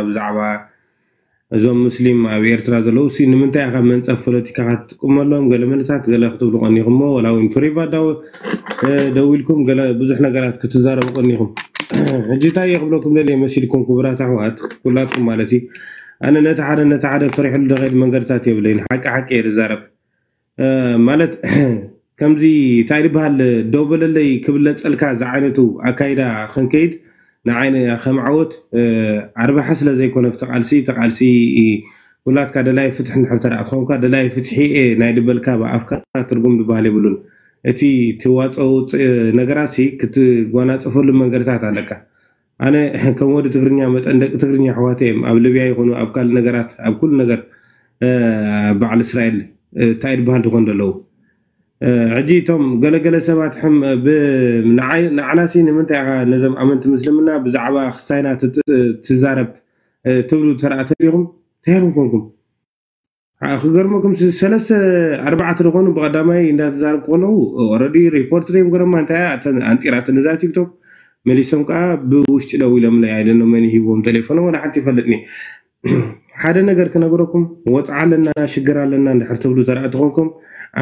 ብዛዕባ እዞም ሙስሊም ኣብ ኤርትራ ዘለዉ ሲ ንምንታይ ኢኻ መንጸፍ ፖለቲካ ክትጥቀመሎም? ገለ መለታት ገለ ክትብሉ ቀኒኹሞ፣ ወላ እውን ፕሪቫት ዳው ደዊልኩም ገለ ብዙሕ ነገራት ክትዛረቡ ቀኒኹም። ሕጂ እንታይ እየ ክብለኩም ደልየ መሲልኩም ክቡራት ኣሕዋት ኩላትኩም ማለት እዩ። ኣነ ነቲ ሓደ ነቲ ሓደ ፈሪሕሉ ደኸይድ መንገድታት የብለይን። ሓቂ ሓቂ እየ ዝዛረብ። ማለት ከምዚ እንታይ ዝበሃል ደው በለለይ ክብለጸልካ ዝዓይነቱ ኣካይዳ ክንከይድ ንዓይ ከም ዓወት ኣርባሓ ስለ ዘይኮነ ኣብቲ ቃልሲ እቲ ቃልሲ ኩላትካ ደላይ ፍትሒ እንድሕር ተረኣ ትኾንካ ደላይ ፍትሒ እየ ናይ ድበልካ ብኣፍካ ትርጉም ዝበሃል የብሉን። እቲ ትዋፀኦ ነገራት ክትጓናፀፈሉ መንገድታት ኣለካ። ኣነ ከም ወዲ ትግርኛ መጠን ደቂ ትግርኛ ኣሕዋተ እዮም ኣብ ልብያ ይኹኑ ኣብ ካልእ ነገራት ኣብ ኩሉ ነገር በዓል እስራኤል እንታይ ዝበሃል ዝኾን ዘለዉ። ሕጂ እቶም ገለገለ ሰባት ንዓና ሲ ንምንታይ ኢኻ ነዞም ኣመንቲ ምስልምና ብዛዕባ ክሳይና ትዛረብ ትብሉ ተረኣተ ዲኹም? እንታይ ኢኹም ኮንኩም? ክገርመኩም ሰለስተ ኣርባዕተ ዝኾኑ ብቐዳማይ እንዳተዛረብኩ ከለዉ ኦረዲ ሪፖርት ደም ገረማ እንታይ ኣንጢራትኒ እዛ ቲክቶክ መሊሶም ከዓ ብውሽጢ ደው ኢሎምለይ ኣይደኖ መን ሂቦም ቴሌፎኖም ወላ ሓንቲ ይፈልጥኒ ሓደ ነገር ክነግረኩም ወፅዓ ኣለና ሽግር ኣለና እንድሕር ትብሉ ተረእቲ ኮንኩም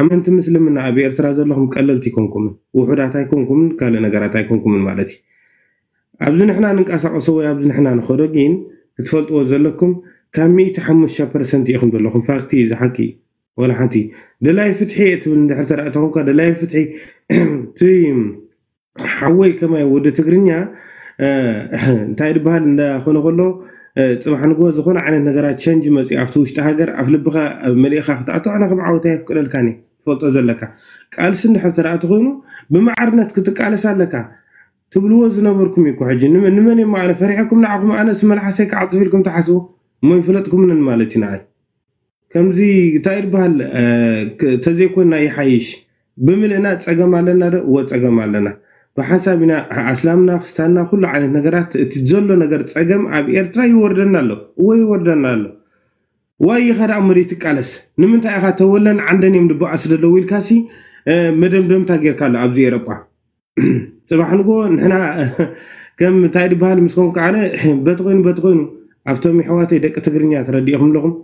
ኣመንቲ ምስልምና ኣብ ኤርትራ ዘለኹም ቀለልቲ ኣይኮንኩምን ውሑዳት ኣይኮንኩምን ካልእ ነገራት ኣይኮንኩምን ማለት እዩ ኣብዚ ንሕና ንንቀሳቀሶ ወይ ኣብዚ ንሕና ንኸዶ ግን ክትፈልጥዎ ዘለኩም ካብ ሚእቲ ሓሙሽተ ፐርሰንት ኢኹም ዘለኹም ፋክቲ እዩ ዝሓቂ ወላ ሓንቲ ደላይ ፍትሒ እየ ትብል እንድሕር ተረእቲ ኮንካ ደላይ ፍትሒ ሓወይ ከማይ ወዲ ትግርኛ እንታይ ዝበሃል እንዳኾነ ከሎ ፅባሕ ንግሆ ዝኾነ ዓይነት ነገራት ቸንጅ መፂኡ ኣብቲ ውሽጢ ሃገር ኣብ ልብኻ መሊእኻ ክትኣቶ ኣነ ከም ዓወት ኣየፍቅደልካን እየ ትፈልጦ ዘለካ ቃልሲ እንድሕር ተረእቲ ኮይኑ ብማዕርነት ክትቃለስ ኣለካ ትብልዎ ዝነበርኩም እዩ ሕጂ ንመን እዮም ኣነ ፈሪሐኩም ንዓኹም ኣነስ መልሓሰይ ክዓፅፍ ኢልኩም ትሓስቡ እሞ ይፍለጥኩምንን ማለት እዩ ንዓይ ከምዚ እንታይ ይበሃል ተዘይኮንና ይሓይሽ ብምልእና ፀገም ኣለና ዶ እወ ፀገም ኣለና ብሓንሳብ ኢና ኣስላምና ክስታንና ኩሉ ዓይነት ነገራት እቲ ዘሎ ነገር ፀገም ኣብ ኤርትራ ይወርደና ኣሎ እወ ይወርደና ኣሎ ዋይ ኢኻ ደኣ መሬት ትቃለስ ንምንታይ ኢኻ ተወለን ዓንደን እዮም ድበኣስ ዘለዉ ኢልካሲ መደምደምታ ጌርካ ኣሎ ኣብዚ ኤረጳ ፅባሕ ንጎ ንሕና ከም እንታይ ዝበሃል ምስ ኮንካ ኣነ በቲ ኮይኑ በቲ ኮይኑ ኣብቶም ይሕዋተይ ደቂ ትግርኛ ተረዲእኹም ኣለኹም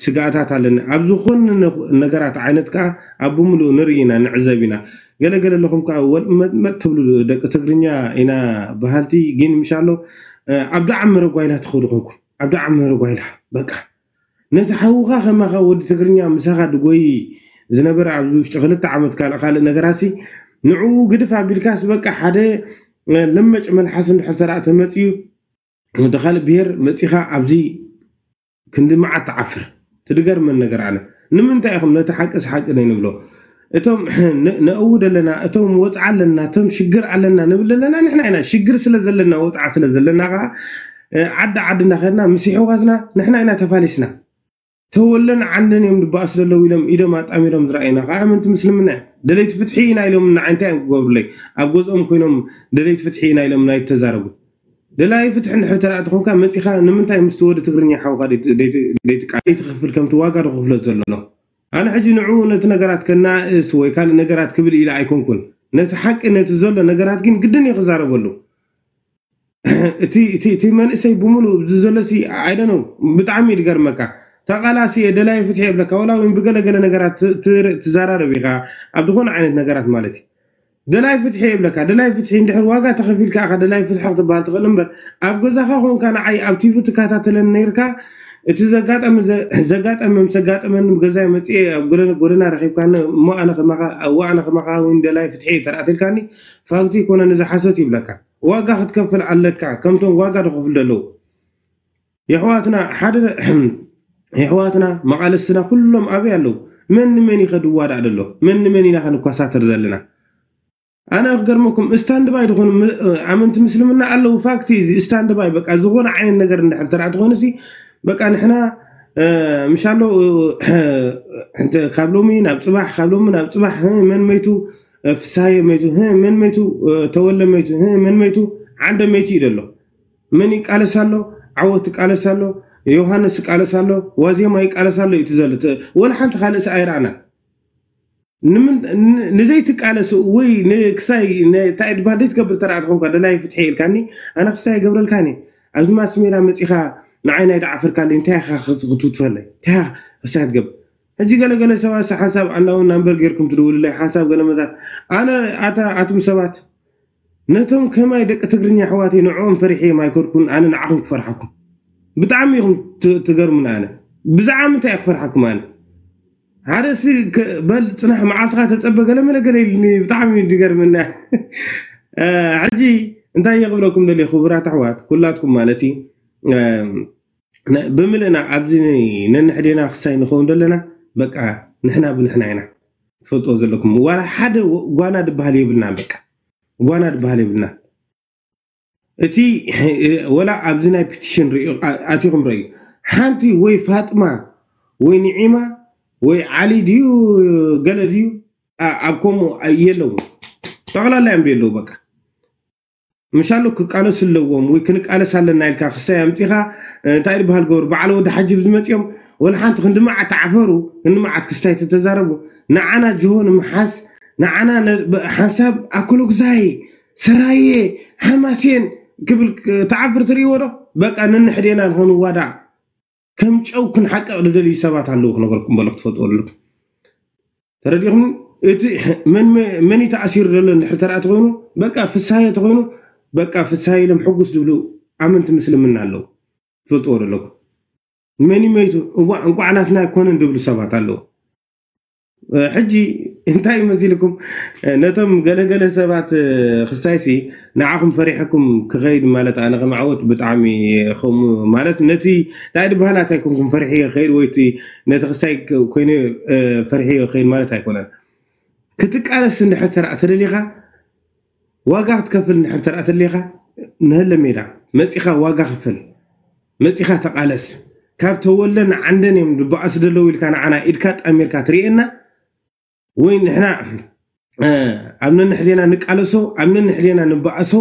ስጋኣታት ኣለኒ ኣብ ዝኾነ ነገራት ዓይነት ከዓ ኣብ ብምሉእ ንርኢ ኢና ንዕዘብ ኢና ገለገለ ኣለኹም ከዓ ወልመጥመጥ ትብሉ ደቂ ትግርኛ ኢና በሃልቲ ግን ምሻሎ ኣብ ዳዓም መረጓይላ ትኸዱ ኮንኩም ኣብ ዳዓም መረጓይላ በቃ ነቲ ሓውኻ ከማኻ ወዲ ትግርኛ ምሳኻ ድጎይ ዝነበረ ኣብዚ ውሽጢ ክልተ ዓመት ካልእ ካልእ ነገራሲ ንዕኡ ግድፍ ኣቢልካስ በቃ ሓደ ለመጭ መልሓስ እንድሕር ተረኣ ተመፅዩ ወዲ ካልእ ብሄር መፂኻ ኣብዚ ክንዲ መዓት ትዓፍር ትድገርመን ነገር ኣነ ንምንታይ ኢኹም ነቲ ሓቅስ ሓቂ ነይንብሎ እቶም ነእውድ ኣለና እቶም ወፅዓ ኣለና እቶም ሽግር ኣለና ንብል ኣለና ንሕና ኢና ሽግር ስለ ዘለና ወፅዓ ስለ ዘለና ከዓ ዓዲ ዓድና ከድና ምስ ይሕዋትና ንሕና ኢና ተፋሊስና ተወለን ዓንደን እዮም ድበኣስ ዘለዉ ኢሎም ኢዶም ኣጣሚሮም ዝረኣዩና ከዓ ኣመንቲ ምስልምና እዮም ደለይቲ ፍትሒ ኢና ኢሎም ንዓይ እንታይ እዮም ክገብሩለይ ኣብ ገዝኦም ኮይኖም ደለይቲ ፍትሒ ኢና ኢሎም ናይ ተዛረቡ ደላይ ፍትሒ እንድሕር ተረኣ ተኾንካ መፂኻ ንምንታይ ምስቲ ወዲ ትግርኛ ሓውካ ደይትቃ ደይትኽፍል ከምቲ ዋጋ ዝኽፍሎ ዘሎ ኣነ ሕጂ ንዕኡ ነቲ ነገራት ከናእስ ወይ ካልእ ነገራት ክብል ኢለ ኣይኮንኩን ነቲ ሓቂ ነቲ ዘሎ ነገራት ግን ግድን እዩ ክዛረበሉ እቲ እቲ እቲ መንእሰይ ብምሉእ እዚ ዘሎ ሲ ኣይደነው ብጣዕሚ እዩ ዝገርመካ ተቃላሲ እየ ደላይ ፍትሒ የብለካ ወላ እውን ብገለገለ ነገራት ትዛራረብ ኢኻ ኣብ ዝኾነ ዓይነት ነገራት ማለት እዩ ደላይ ፍትሒ የብለካ ደላይ ፍትሒ እንድሕር ዋጋ ተኸፊልካ ኢኻ ደላይ ፍትሒ ክትበሃል ትኽእል እምበር ኣብ ገዛኻ ኮንካ ንዓይ ኣብ ቲቪ ትከታተለኒ ነይርካ እቲ ዘጋጠመ ዘጋጠመ ምስ ዘጋጠመኒ ገዛይ መፅኤ ኣብ ጎደና ረኺብካኒ እሞ ኣነ ከማኻ እዋ ኣነ ከማኻ እውን ደላይ ፍትሒ ተረኣትልካኒ ፋውቲ ይኮነኒ ዝሓሰት ይብለካ ዋጋ ክትከፍል ኣለካ ከምቶም ዋጋ ዝኸፍሉ ዘለዉ የሕዋትና ሓደ የሕዋትና መቓለስትና ኩሎም ኣበይ ኣለዉ መን ንመን ይኸ ድዋዳእ ደሎ መን ንመን ኢና ከንኳሳተር ዘለና ኣነ ክገርመኩም ስታንድባይ ዝኾኑ ኣመንቲ ምስልምና ኣለዉ ፋክቲ እዚ ስታንድባይ በቃ ዝኾነ ዓይነት ነገር እንድሕር ተራ ትኾኑ ሲ በቃ ንሕና ምሻሎ ካብ ሎሚ ናብ ፅባሕ ካብ ሎሚ ናብ ፅባሕ መን መይቱ ፍሳየ መይቱ መን መይቱ ተወለ መይቱ መን መይቱ ዓንደ መይቱ እዩ ዘሎ መን ይቃለስ ኣሎ ዓወት ይቃለስ ኣሎ ዮሃንስ ይቃለስ ኣሎ ዋዜማ ይቃለስ ኣሎ እዩ ዘሎ ወላ ሓንቲ ካልእስ ኣይረኣና ንደይ ትቃለስ ወይ ክሳይ እንታይ ድባል ደይ ትገብር ተረኣ ትኾንካ ደላይ ፍትሒ ኢልካኒ ኣነ ክሳይ ገብረልካኒ ኣብዚ ማስሜዳ መፂኻ ንዓይ ናይ ደዓፈርካለይ እንታይ ኢኻ ክትውትፈለይ እንታይ ኢኻ ክሳይ ትገብር? ሕጂ ገለገለ ሰባት ሓንሳብ ኣናውን ናምበር ጌርኩም ትድውልለይ ሓንሳብ ገለመታት ኣነ ኣታ ኣቱም ሰባት ነቶም ከማይ ደቂ ትግርኛ ኣሕዋተይ ንዕኦም ፈሪሐዮም ኣይኮንኩን ኣነ ንዓኹም ክፈርሓኩም። ብጣዕሚ ኢኹም ትገርሙኒ ኣነ ብዛዕባ ምንታይ እየ ክፈርሓኩም ኣነ ሓደ ሲ በል ፅናሕ መዓልትኻ ተፀበ ገለ መለ ገለ ኢሉኒ ብጣዕሚ እዩ ዝገርመኒ። ሕጂ እንታይ እየ ክብለኩም ደልየ ክቡራት ኣሕዋት ኩላትኩም ማለት እዩ ብምልእና ኣብዚ ነንሕዴና ክሳይ ንኸውን ዘለና በቃ ንሕና ብንሕና ኢና ትፈልጥዎ ዘለኩም ዋላ ሓደ ጓና ዝበሃል የብልና በቃ ጓና ዝበሃል የብልና እቲ ወላ ኣብዚ ናይ ፒቲሽን ኣቲኹም ረዩ ሓንቲ ወይ ፋጥማ ወይ ንዒማ ወይ ዓሊ ድዩ ገለ ድዩ ኣብ ከምኡ የለዉ ጠቕላላ እዮም የለዉ በቃ ምሻሎ ክቃለሱ ኣለዎም ወይ ክንቃለስ ኣለና ኢልካ ክሳይ ኣምፂኻ እንታይ ዝበሃል ገበሩ በዓል ወዲ ሓጂ ዝመፅኦም ወላ ሓንቲ ክንዲ መዓት ተዓፈሩ ክንዲ መዓት ክስታይ ተተዛረቡ ንዓና ጅሆ ንምሓዝ ንዓና ሓንሳብ ኣኮሎግዛይ ሰራየ ሓማሴን ክብል ተዓፍር ትርእይዎ ዶ በቃ ነንሕዴና ንኾንዋዳእ ከም ጨው ክንሓቀቕ ዝደልዩ ሰባት ኣለዉ ክነገርኩም በሎ ክትፈልጥዎ ኣለኩም ተረዲኹም እቲ መን እዩ ተኣሲሩ ዘሎ እንድሕር ተረኣ ተኾይኑ በቃ ፍሳየ ተኾይኑ በቃ ፍሳየ ኢሎም ሕጉስ ዝብሉ ኣመንቲ ምስልምና ኣለዉ ትፈልጥዎ ዘለኩም መን መይቱ እዋ እንቋዕ ናትና ኣይኮነን ዝብሉ ሰባት ኣለዉ ሕጂ እንታይ ይመሲልኩም ነቶም ገለገለ ሰባት ክስታይሲ ንዓኹም ፈሪሐኩም ክኸይድ ማለት ኣነ ከም ዓወት ብጣዕሚ ከምኡ ማለት ነቲ እንታይ ዝበሃል ኣታ ኣይኮንኩም ፈሪሐ ክኸይድ ወይ ነቲ ክስታይ ኮይነ ፈሪሐ ክኸይድ ማለት ኣይኮነን ክትቃለስ እንድሕር ተረኣ ተደሊኻ ዋጋ ክትከፍል እንድሕር ተረኣ ተደሊኻ ንህለ ሜዳ መፂኻ ዋጋ ክፈል መፂኻ ተቃለስ ካብ ተወለን ዓንደን እዮም ዝበኣሱ ዘለዉ ኢልካ ንዓና ኢድካ ጣሚርካ ትርእየና ወይ ንሕና ኣብ ነንሕዴና ንቃለሶ ኣብ ነንሕዴና ንበኣሶ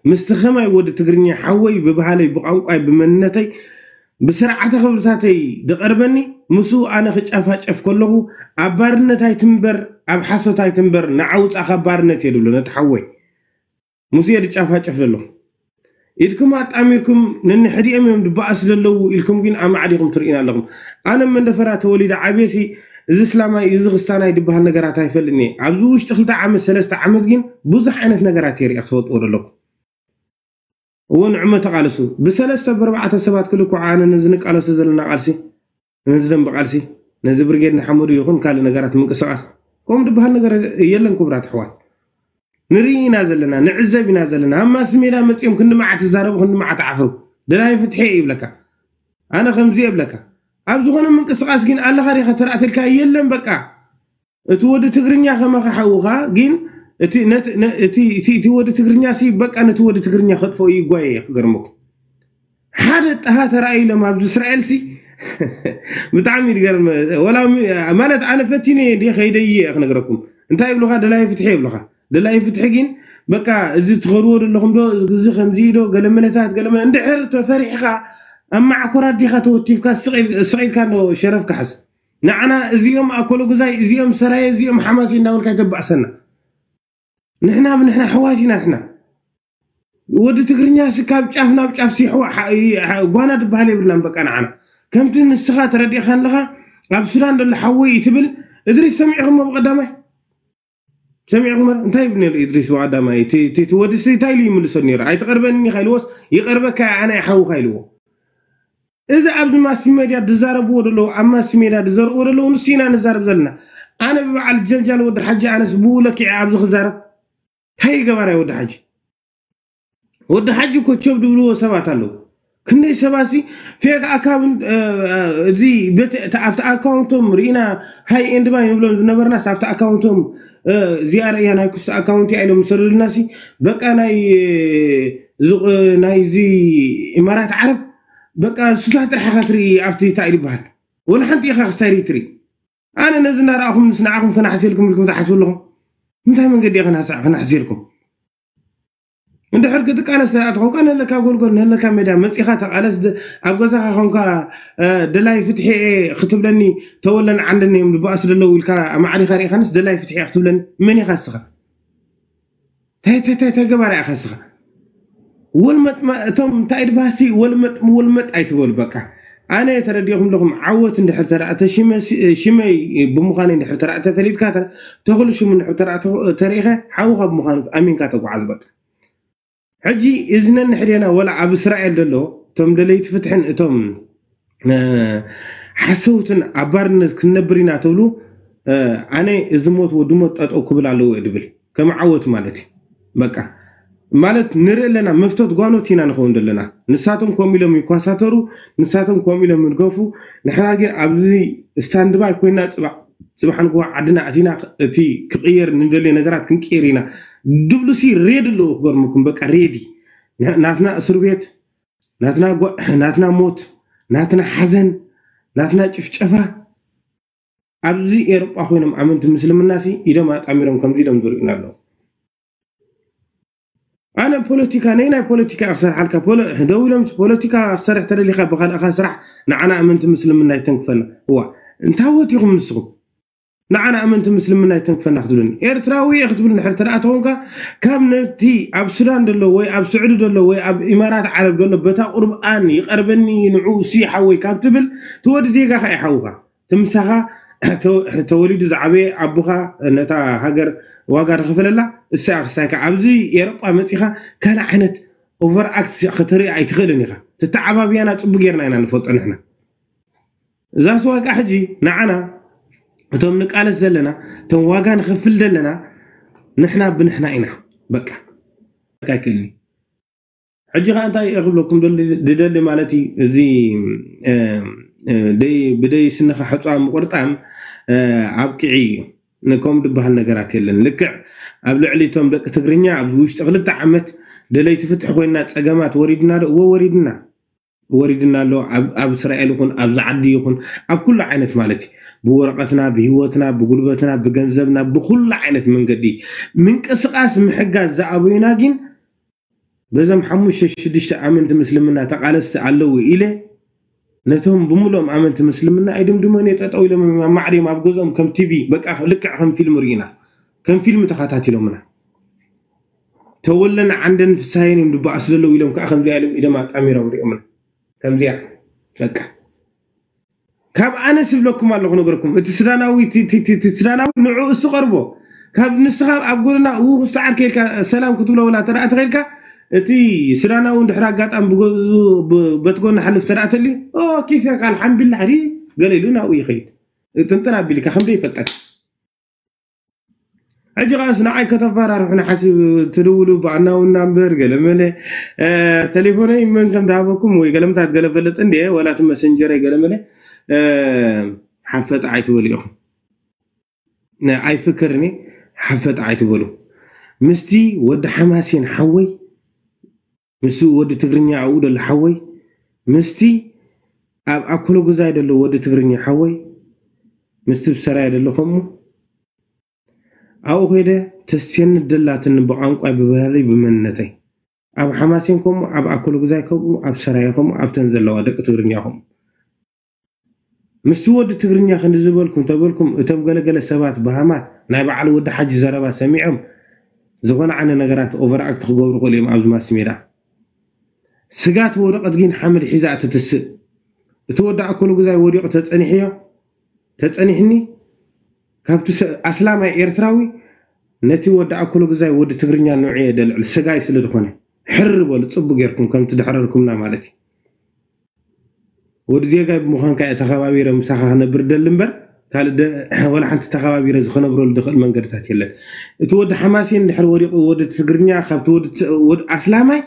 ምስቲ ከማይ ወዲ ትግርኛ ሓወይ ብባህለይ ብቋንቋይ ብመንነተይ ብስርዓተ ክብርታተይ ዝቐርበኒ ምስኡ ኣነ ክጫፋጨፍ ከለኹ ኣብ ባርነት ኣይትንበር ኣብ ሓሶት ኣይትንበር ንዓውፃ ካብ ባርነት እየ ዝብሎ ነቲ ሓወይ ምስኡ እየ ዝጫፋጨፍ ዘሎ ኢድኩም ኣጣሚርኩም ነንሕዲኦም እዮም ዝበኣስ ዘለዉ ኢልኩም ግን ኣማዕዲኹም ትርእዩና ኣለኹም ኣነ መንደፈራ ተወሊደ ዓብየሲ እዚ እስላማይ እዚ ክስታናይ ዝበሃል ነገራት ኣይፈልጥን እየ ኣብዚ ውሽጢ ክልተ ዓመት ሰለስተ ዓመት ግን ብዙሕ ዓይነት ነገራት የርእያ ክትፈልጥዎ ዘለኩም እዎ ንዕመ ተቃለሱ ብሰለስተ ብርባዕተ ሰባት ክልኩዕ ኣነ ነዚ ንቃለሱ ዘለና ቃልሲ ነዚ ደንበ ቃልሲ ነዚ ብርጌድ ንሓመዱ ይኹን ካልእ ነገራት ምንቅስቃስ ከምኡ ዝበሃል ነገር የለን ክቡራት ኣሕዋት ንርኢ ኢና ዘለና ንዕዘብ ኢና ዘለና ኣብ ማስ ሜዳ መፅኦም ክንዲ መዓት ይዛረቡ ክንዲ መዓት ዓፍሩ ደላይ ፍትሒ ይብለካ ኣነ ከምዚ የብለካ ኣብ ዝኾነ ምንቅስቃስ ግን ኣለኻ ዲኻ ተራእተልካ የለን በቃ እቲ ወዲ ትግርኛ ከማኻ ሓውኻ ግን እቲ ወዲ ትግርኛ ሲ በቃ ነቲ ወዲ ትግርኛ ከጥፈኡ ይጓየ ክገርመኩም ሓደ ጠሃ ተራእዩ ኢሎም ኣብዚ እስራኤል ሲ ብጣዕሚ ይገርም ወላ ማለት ኣነ ፈቲነ እየ ከይደይ እየ ክነግረኩም እንታይ ይብሉካ ደላይ ፍትሒ ይብሉካ ደላይ ፍትሒ ግን በቃ እዚ ትኸድዎ ዘለኹም ዶ እዚ ከምዚ ዶ ገለመለታት ገለመለ እንድሕር ተፈሪሕካ ኣብ ማዕኮራት ዲኻ ተወቲፍካ ስቕ ኢልካ ዶ ሸረፍ ክሓዝ ንዓና እዚኦም ኣኮሎ ግዛይ እዚኦም ሰራየ እዚኦም ሓማሲ እንዳበልካ ይተባእሰና ንሕና ብንሕና ኣሕዋት ኢና ንሕና ወዲ ትግርኛ ሲ ካብ ጫፍ ናብ ጫፍ ሲ ጓና ዝበሃል የብልናን በቃ ንዓና ከምቲ ንስኻ ተረዲእካ ኣለኻ ኣብ ሱዳን ዘሎ ሓወይ እዩ ትብል እድሪስ ሰሚዕኹሞ ብቐዳማይ ሰሚዕኹም እንታይ ይብል ነይሩ እድሪስ ብቐዳማይ እቲ ወዲ ሲ እንታይ ኢሉ ይምልሶ ነይሩ ኣይትቐርበኒ ኢኻ ኢልዎስ ይቐርበካ ኣነ ሓውኻ ኢልዎ እዚ ኣብዚ ማስ ሜድያ ዝዛረብዎ ዘለዉ ኣብ ማስ ሜድያ ዝዘርእዎ ዘለዉ ንሱ ኢና ንዛረብ ዘለና ኣነ ብበዓል ጀልጃል ወዲ ሓጂ ኣነስ ብኡ ለኪዐ ኣብዚ ክዛረብ እንታይ ገባራይ ወዲ ሓጂ ወዲ ሓጂ ኮቸብ ዝብልዎ ሰባት ኣለዉ ክንደይ ሰባት ሲ ፌክ ኣካውንት እዚ ኣብቲ ኣካውንቶም ርኢና ሃይ ኤንድ ባይ ንብሎም ዝነበርናስ ኣብቲ ኣካውንቶም እዚኣ ርእያ ናይ ኩስ ኣካውንት እያ ኢሎም ዝሰደዱልና ሲ በቃ ናይ ናይዚ ኢማራት ዓረብ በቃ ሱታት ጥራሕ ኢኻ ትርኢ ኣብቲ እንታይ ዝበሃል ወላ ሓንቲ ኢኻ ክስታይ ርኢ ትርኢ ኣነ ነዚ እናረኣኹም ምስ ንዓኹም ክናሕሰልኩም ኢልኩም ትሓስቡ ኣለኹም እንታይ መንገዲ ኢኻ ክናሕሰልኩም እንድሕር ክትቃለስ ኣትኾንካ ነለካ ጎልጎል ነለካ ሜዳ መፂኻ ተቃለስ ኣብ ገዛኻ ኾንካ ደላይ ፍትሒ ክትብለኒ ተወለን ዓንደን እዮም ዝበኣሱ ዘለዉ ኢልካ ኣማዕዲኻ ርኢኻንስ ደላይ ፍትሒ ክትብለኒ መን ኢኻ እስኻ ተገባር ኢኻ እስኻ ወልመጥ እቶም እንታይ ድባሲ ወልመጥ ወልመጥ ኣይትበሉ። በቃ ኣነ ተረዲኹም ኣለኹም። ዓወት እንድሕር ተረኣ ተሽመ ሽመይ ብምዃን እንድሕር ተረኣ ተፈሊጥካ ተኽሉ ሽሙ እንድሕር ተረኣ ተሪኸ ሓውኻ ብምዃኑ ኣሚንካ ተጓዓዝ። በቃ ሕጂ እዚ ነንሕድና ወላ ኣብ እስራኤል ዘሎ እቶም ደለይቲ ፍትሕን እቶም ሓሰውትን ኣብ ባርነት ክንነብር ኢና ትብሉ፣ ኣነ እዚ ሞት ወዲ ሞት ጠጠው ክብል ኣለዎ እየ ድብል። ከም ዓወት ማለት እዩ። በቃ ማለት ንርኢ ኣለና፣ መፍቶት ጓኖት ኢና ንኸውን ዘለና። ንሳቶም ከምኡ ኢሎም ይኳሳተሩ፣ ንሳቶም ከምኡ ኢሎም ይድገፉ። ንሕና ግን ኣብዚ ስታንድባይ ኮይና ፅባሕ ንግሆ ዓድና ኣቲና እቲ ክቕየር ንደልዮ ነገራት ክንቅይር ኢና። ድብሉሲ ሬድ ኣለዎ ክገርመኩም። በቃ ሬዲ ናትና እስር ቤት ናትና ጓ- ናትና ሞት፣ ናትና ሓዘን፣ ናትና ጭፍጨፋ ኣብዚ ኤሮጳ ኮይኖም ኣመንቲ ምስልምና ሲ ኢዶም ኣጣሚሮም ከምዚ ኢሎም ዝርእዩና ኣለዉ። ኣነ ፖለቲካ ነይ ናይ ፖለቲካ ክሰርሓልካ ፖለ- ደው ኢሎም ፖለቲካ ክሰርሕ ተደሊካ ብካልእካ ስራሕ ንዓና ኣመንቲ ምስልምና ይተንክፈና። እዋ እንታወት ኢኹም ንስኹም ንዓና ኣመንቲ ምስልምና ይተንክፈና ክትብሉኒ ኤርትራዊ እየ ክትብል ንድሕር ተደኣ ተኾንካ ካብ ነቲ ኣብ ሱዳን ዘሎ ወይ ኣብ ስዑዲ ዘሎ ወይ ኣብ ኢማራት ዓረብ ዘሎ በታ ቁርብኣን ይቐርበኒ ንዑ ሲ ሓወይ ካብ ትብል ትወዲ ዜጋኻ ይሓውኻ ትምሳኻ ተወሊዱ ዝዓበየ ኣቦኻ ነታ ሃገር ዋጋ ዝኸፈለላ እሳ ክሳይካ ኣብዚ ኤሮጳ መጺኻ ካልእ ዓይነት ኦቨር ኣክት ከተርኢ ኣይትኽእልን ኢኻ። ተተዓባብያና ጽቡቅ ጌርና ኢና ንፈልጦ ንሕና። እዛ ስዋቃ ሕጂ ንዓና እቶም ንቃለስ ዘለና እቶም ዋጋ ንኸፍል ዘለና ንሕና ብንሕና ኢና። በቃ ኣይክእልን። ሕጂ ከዓ እንታይ እየ ክብለኩም ደሊ- ድደሊ ማለት እዩ እዚ እ፣ እ፣ ደይ- ብደይ ስንኻ ሕፃ ምቁርጣም እ፣ ኣብቅዒ እዩ። ንከም ዝበሃል ነገራት የለን። ልክዕ ኣብ ልዕሊ እቶም ደቂ ትግርኛ ኣብዚ ውሽጢ ክልተ ዓመት ደለይቲ ፍትሒ ኮይና ፀገማት ወሪድና ዶ? እዎ ወሪድና። ወሪድና ኣሎ ኣብ ኣብ እስራኤል ይኹን ኣብዚ ዓዲ ይኹን ኣብ ኩሉ ዓይነት ማለት እዩ። ብወረቐትና ብህይወትና ብጉልበትና ብገንዘብና ብኩሉ ዓይነት መንገዲ ምንቅስቃስ ምሕጋዝ ዝኣበዩና ግን በዞም ሓሙሽተ ሽዱሽተ ኣመንቲ ምስልምና ተቃለስቲ ኣለዉ ኢለ ነቶም ብምሉኦም ኣመንቲ ምስልምና ኣይድምድሞን እየ። ጠጠው ኢሎም እዮም ኣብ ማዕሪም ኣብ ገዝኦም ከም ቲቪ በቃ ልክዕ ከም ፊልም ርኢና ከም ፊልም ተኸታቲሎምና ተወለን ዓንደን ፍሳየን እዮም ድበኣሱ ዘለዉ ኢሎም ከዓ ከምዚኣ ኢሎም ኢዶም ኣጣሚሮም ሪኦምና ከምዚኣ በቃ ካብ ኣነ ስብለኩም ኣለኹ ነገርኩም እቲ ስዳናዊ እቲ- እቲ- እቲ- እቲ ስዳናዊ ንዑ እሱ ቀርቦ ካብ ንስኻ ኣብ ጎንና ው ክስተዓር ከልካ ሰላም ክትብሎ ወላ ተደኣ ተኸልካ እቲ ስዳናዊ እንድሕር ኣጋጣሚ ብጎ- ብ- በቲ ጎና ሓልፍ ተደኣ ተልዩ ኦ ኬፍ ያካ ኣልሓምዱላ ሕዲ ገለ ኢሉ ናብኡ ይኸይድ ጥንጥን ኣቢልካ ከምደ ይፈልጠካ ሕጂ ኸዓስ ንዓይ ከተፈራርሑኒ ሓሲብ ትድውሉ ብኣናውና እምበር ገለመለ እ፣ ቴሌፎነይ መን ከም ዝሃበኩም ወይ ገለምታት ገለ ፈልጥ እንደ ወላ እቲ መሰንጀረይ ገለመለ እ፣ ሓፈጥ ኣይትበሉ ኢኹም ነ- ኣይፍክርኒ ሓፈጥ ኣይትበሉ ምስቲ ወዲ ሓማሴን ሓወይ ምስ ወዲ ትግርኛ ኣብኡ ደሎ ሓወይ ምስቲ ኣብ ኣኮሎ ገዛይ ደሎ ወዲ ትግርኛ ሓወይ ምስቲ ብሰራይ ደሎ ከምኡ ኣብኡ ከይደ ተስየኒ ደላትኒ ብቋንቋይ ብባህለይ ብመንነተይ ኣብ ሓማሴን ከምኡ ኣብ ኣኮሎ ገዛይ ከምኡ ኣብ ሰራየ ከምኡ ኣብተን ዘለዋ ደቂ ትግርኛ ከምኡ ምስቲ ወዲ ትግርኛ ክንዲ ዝበልኩም ተበልኩም እቶም ገለገለ ሰባት በሃማት ናይ በዓል ወዲ ሓጂ ዘረባ ሰሚዖም ዝኾነ ዓይነት ነገራት ኦቨር ኣክት ክገብሩ ክእሉ እዮም ኣብዚ ማስ ሜዳ ስጋት ወረቐት ግን ሓመድ ሒዛ እትትስእ እቲ ወዲ ኣኮሎ ግዛይ ወዲቑ ተጸኒሕዮ ተጸኒሕኒ ካብቲ ኣስላማይ ኤርትራዊ ነቲ ወዲ ኣኮሎ ግዛይ ወዲ ትግርኛ ንዑ እየ ደልዕል ስጋይ ስለ ዝኾነ ሕር በሉ ጽቡቅ ጌርኩም ከምቲ ድሕረርኩምና ማለት እዩ ወዲ ዜጋይ ብምዃንካ እየ ተኸባቢረ ምሳኻ ክነብር ደሊ እምበር ካልእ ወላ ሓንቲ ተኸባቢረ ዝኸነብረሉ ዝኽእል መንገድታት የለን። እቲ ወዲ ሓማሴን ድሕሪ ወዲቑ ወዲ ትግርኛ ካብቲ ወዲ ኣስላማይ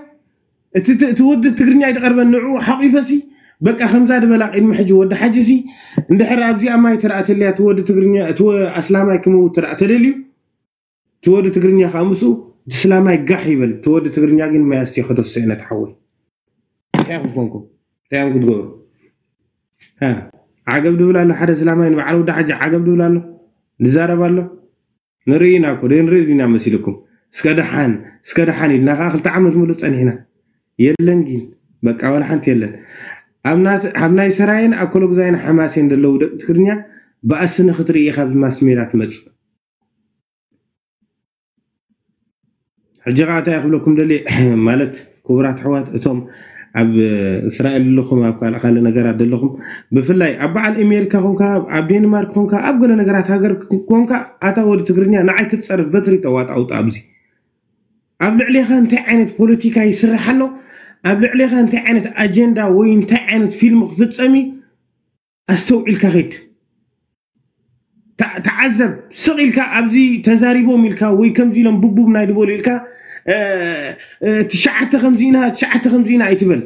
እቲ ወዲ ትግርኛ ይድቐርበን ንዕኡ ሓቒፈሲ በቃ ከምዛ ድበላ ቅድሚ ሕጂ ወዲ ሓጂሲ እንድሕር ኣብዚኣ ማይ ተረኣ ተልያ እቲ ወዲ ትግርኛ እቲ ኣስላማይ ክመውት ተረኣ ተደልዩ እቲ ወዲ ትግርኛ ከዓ ምስኡ እቲ ስላማይ ጋሕ ይበል እቲ ወዲ ትግርኛ ግን ማይ ኣስትዮ ከተስኦ ነቲ ሓወይ እንታይ ኢኹም ኮንኩም እንታይ ኢኹም ክትገብሩ ዓገብ ድብል ኣሎ ሓደ ስላማይ ንበዓል ወዲ ሓጂ ዓገብ ድብል ኣሎ ዝዛረብ ኣሎ ንርኢ ኢና እኮ ደይ ንርኢ ኢና መሲልኩም እስከ ደሓን እስከ ደሓን ኢልና ከዓ ክልተ ዓመት ሙሉእ ፀኒሕና የለን ግን በቃ ዋላ ሓንቲ የለን ኣብ ናይ ሰራየን ኣኮሎ ግዛይን ሓማሴን ዘለዉ ደቂ ትግርኛ ብኣስኒ ክትርኢ ኢኻ ብማስ ሜዳ ትመፅእ ሕጂ ከዓ እንታይ ክብለኩም ደልየ ማለት ክቡራት ኣሕዋት፣ እቶም ኣብ እስራኤል ዘለኹም፣ ኣብ ካልእ ካልእ ነገራት ዘለኹም፣ ብፍላይ ኣብ በዓል ኣሜሪካ ኮንካ፣ ኣብ ዴንማርክ ኮንካ፣ ኣብ ገለ ነገራት ሃገር ኮንካ፣ ኣታ ወዲ ትግርኛ ንዓይ ክትጸርፍ በትሪ ተዋጣውጣ ኣብዚ ኣብ ልዕሌኻ እንታይ ዓይነት ፖለቲካ ይስራሕ ኣሎ፣ ኣብ ልዕሌኻ እንታይ ዓይነት ኣጀንዳ ወይ እንታይ ዓይነት ፊልም ክፍጸም እዩ፣ ኣስተውዒልካ ኸይድ። ተዓዘብ። ስቕ ኢልካ ኣብዚ ተዛሪቦም ኢልካ ወይ ከምዚ ኢሎም ቡቡብ ናይ ድበሉ ኢልካ ትሽዓተ ከምዚ ኢና ትሽዓተ ከምዚ ኢና ኣይትበል።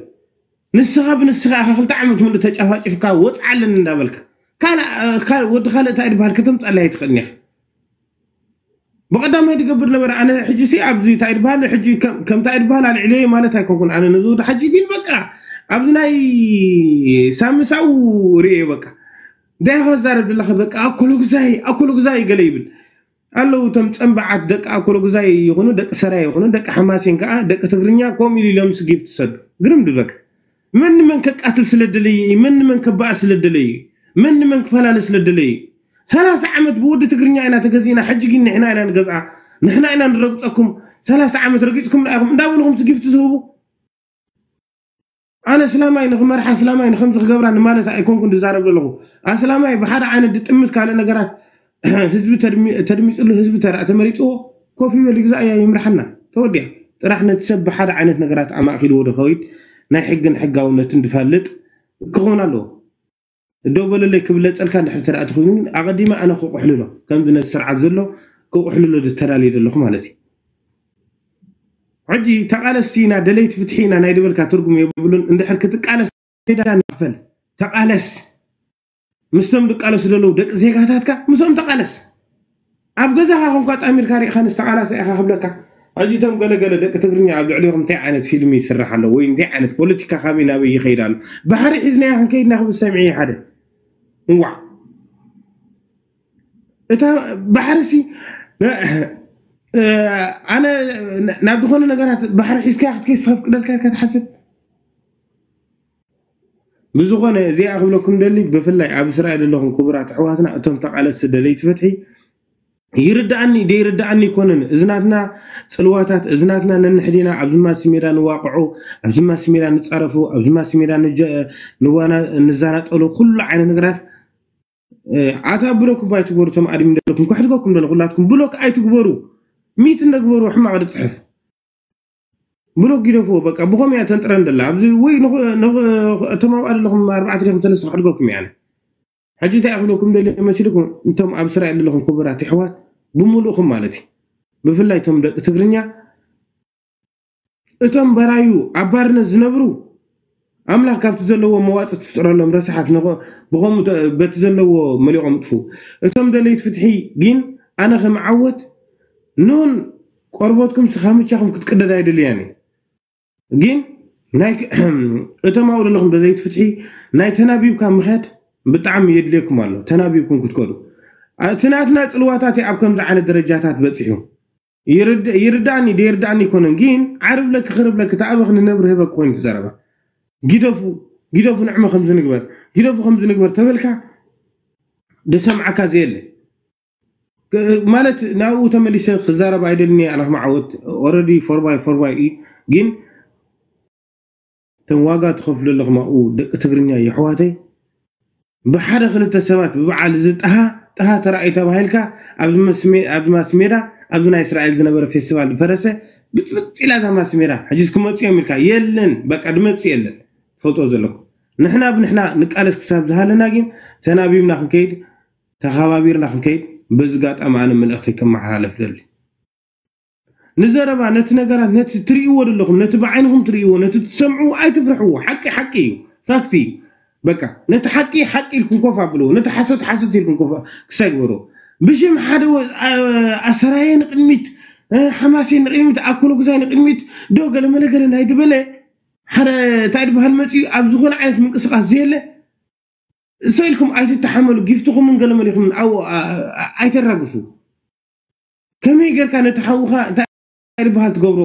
ንስኻ ብንስኻ ኢኻ ክልተ ዓመት ምሉእ ተጫፋጭፍካ ወፅዓለን እንዳበልካ ካልእ ወዲ ካልእ እንታይ ድበሃል ከተምፃለይ ኣይትኽእልን ኢኻ። ብቐዳማይ ዝገብር ነበረ። ኣነ ሕጂ ሲ ኣብዚ እንታይ ድበሃል ሕጂ ከምታይ ድበሃል ኣልዕለየ ማለት ኣይኮንኩን። ኣነ ነዚ ወዲ ሓጂ ግን በቃ ኣብዚ ናይ ሳምሳው ርእየ በቃ እንታይ ከዛረብ ዘለኸ በቃ ኣኮሎግዛይ ኣኮሎግዛይ ገለ ይብል ኣለዉ። እቶም ፀንበዓት ደቂ ኣኮሎግዛይ ይኹኑ ደቂ ሰራይ ይኹኑ ደቂ ሓማሴን ከዓ ደቂ ትግርኛ ከምኡ ኢሉ ኢሎም ስጊፍ ትሰዱ ግርም ድበካ። መን ንመን ከቃትል ስለ ደለየ እዩ? መን ንመን ከባእ ስለ ደለየ እዩ? መን ንመን ክፈላለ ስለ ደለየ እዩ? ሰላሳ ዓመት ብወዲ ትግርኛ ኢና ተገዚእና፣ ሕጂ ግን ንሕና ኢና ንገዝኣ፣ ንሕና ኢና ንረግፀኩም። ሰላሳ ዓመት ረጊፅኩምና ኢኹም እንዳበልኹም ስጊፍቲ ትህቡ። ኣነ ስላማይ ንኽመርሓ ስላማይ ንኸምዚ ክገብራ ንማለት ኣይኮንኩን ዝዛረብ ዘለኹ። ኣስላማይ ብሓደ ዓይነት ድጥምት ካልእ ነገራት ህዝቢ ተድሚፅሉ ህዝቢ ተረኣ ተመሪፅዎ ኮፍ ይበል ይግዛእ እያ ይምርሓና ተወዲያ። ጥራሕ ነቲ ሰብ ብሓደ ዓይነት ነገራት ኣማእኪልዎ ድኸይድ ናይ ሕግን ሕጋውነትን ድፈልጥ ክኾን ኣለዎ። ደው በለለይ ክብለፀልካ እንድሕር ተደኣ ተኾይኑ ግን ኣቐዲመ ኣነ ክቑሕልሎ ከምዚ ነቲ ስርዓት ዘሎ ክቑሕልሎ ዝተዳልየ ዘለኹ ማለት እዩ። ሕጂ ተቓለስቲ ኢና ደለይቲ ፍትሒ ኢና ናይ ድበልካ ትርጉም የብሉን። እንድሕር ክትቃለስ ሜዳ ንክፈል ተቓለስ። ምስቶም ድቃለሱ ዘለዉ ደቂ ዜጋታትካ ምስኦም ተቓለስ። ኣብ ገዛኻ ኮንካ ጣሚርካ ሪኢኻ ንዝተቓላሰ ኢኻ ክብለካ። ሕጂ እቶም ገለገለ ደቂ ትግርኛ ኣብ ልዕሊኹም እንታይ ዓይነት ፊልም ይስራሕ ኣሎ ወይ እንታይ ዓይነት ፖለቲካ ካበይ ናበይ ይኸይድ ኣሎ? ባሕሪ ሒዝናዮ ክንከይድ ኢና ክብል ሰሚዐ ሓደ እዋዕ እታ ባሕሪ ሲ ኣነ ናብ ዝኾነ ነገራት ባሕሪ ሒዝካ ክትከይስ ከፍቅደልካ ኢልካ ትሓስብ። ብዝኾነ እዚኣ ክብለኩም ደሊ ብፍላይ ኣብ እስራኤል ዘለኹም ክቡራት ኣሕዋትና እቶም ተቓለስቲ ደለይቲ ፍትሒ ይርዳኣኒ ደይርዳኣኒ ይኮነን። እዚ ናትና ፅልዋታት እዚ ናትና ነንሕዲና ኣብዚ ማሲ ሜዳ ንዋቅዖ ኣብዚ ማሲ ሜዳ ንፃረፎ ኣብዚ ማሲ ሜዳ ንዛናጠሎ ኩሉ ዓይነት ነገራት ኣታ ብሎክ እባ ኣይትግበሩ እቶም ኣድሚን ዘለኩም ከሕድገኩም ደለ ኩላትኩም ብሎክ ኣይትግበሩ። ሚት እንደግበሩ ሕማቕ ድፅሕፍ ብሎክ ጊደፍዎ በቃ ብኸም እያ ተንጥረን ደላ ኣብዚ ወይ እቶም ኣብኣ ዘለኹም ኣርባዕተ ዲኹም ሰለስተ ከሕድገኩም እያ። ሕጂ እንታይ ክብለኩም ደለ መሲልኩም እቶም ኣብ እስራኤል ዘለኹም ክቡራት ይሕዋት ብምሉእኹም ማለት እዩ ብፍላይ እቶም ደቂ ትግርኛ እቶም በራዩ ኣብ ባርነት ዝነብሩ ኣምላኽ ካብቲ ዘለዎ መዋፅእ ትፍጥረሎም ረሳሓት ብኸምኡ በቲ ዘለዎ መሊቖም ጥፉ። እቶም ደለይት ፍትሒ ግን ኣነ ከም ዓወት ኖን ቆርበትኩም ስኻምቻኹም ክትቅደድ ኣይደልያን ግን እቶም ኣብኡ ዘለኹም ደለይት ፍትሒ ናይ ተናቢብካ ምኸድ ብጣዕሚ የድልየኩም ኣሎ። ተናቢብኩም ክትከዱ እቲ ናትና ፅልዋታት ኣብ ከምዚ ዓይነት ደረጃታት በፂሑ ይርዳእኒ ደይርዳእኒ ይኮነን ግን ዓርብ ለኪ ክርብ ለኪ ተኣበኽ ንነብር ህበክ ኮይኑ ትዘረባ ግደፉ ግደፉ ንዕመ ከምዚ ንግበር ግደፉ ከምዚ ንግበር ተበልካ ደሰምዓካ ዘየለ ማለት ናብኡ ተመሊሰ ክዛረብ ኣይደልኒ ኣነ ክማዓወት ኦረዲ ፎርባይ ፎርባይ እዩ ግን እቶም ዋጋ ትኸፍሉ ኣለኹም ኣብኡ ደቂ ትግርኛ የሕዋተይ ብሓደ ክልተ ሰባት ብበዓል እዚ ጥሃ ጥሃ ተራእዩ ተባሂልካ ኣብዚ ማስሜዳ ኣብዚ ናይ እስራኤል ዝነበረ ፌስቲቫል ዝፈረሰ ብጥብጥ ኢላ እዛ ማስሜዳ ሕጂስ ክመፁ እዮም ኢልካ የለን በቃ ድመፅእ የለን ትፈልጦ ዘለኩም ንሕና ብንሕና ንቃለስ ክሳብ ዝሃለና ግን ተናቢብና ክንከይድ ተኸባቢርና ክንከይድ በዚ ጋጣሚ ኣነ መልእኽተይ ከመሓላልፍ ደሊ ንዘረባ ነቲ ነገራት ነቲ ትርእይዎ ዘለኹም ነቲ ብዓይንኹም ትርእይዎ ነቲ ትሰምዕዎ ኣይትፍርሕዎ ሓቂ ሓቂ እዩ ፋክት እዩ በቃ ነቲ ሓቂ ሓቂ ኢልኩም ኮፍ ኣብልዎ ነቲ ሓሶት ሓሶት ኢልኩም ኮፍ ክሳይ ግበርዎ ብሽም ሓደ ኣሰራየ ንቅድሚት ሓማሴ ንቅድሚት ኣኮሎጉዛይ ንቅድሚት ዶ ገለመለ ገለ ናይ ድበለ ሓደ እንታይ ድበሃል መፅኡ ኣብ ዝኾነ ዓይነት ምንቅስቃስ ዘየለ እሰ ኢልኩም ኣይትተሓመሉ ጊፍትኹምን ገለመሊኹምን ኣይተራግፉ ከመይ ጌርካ ነቲ ሓውኻ እንታይ ዝበሃል ትገብሮ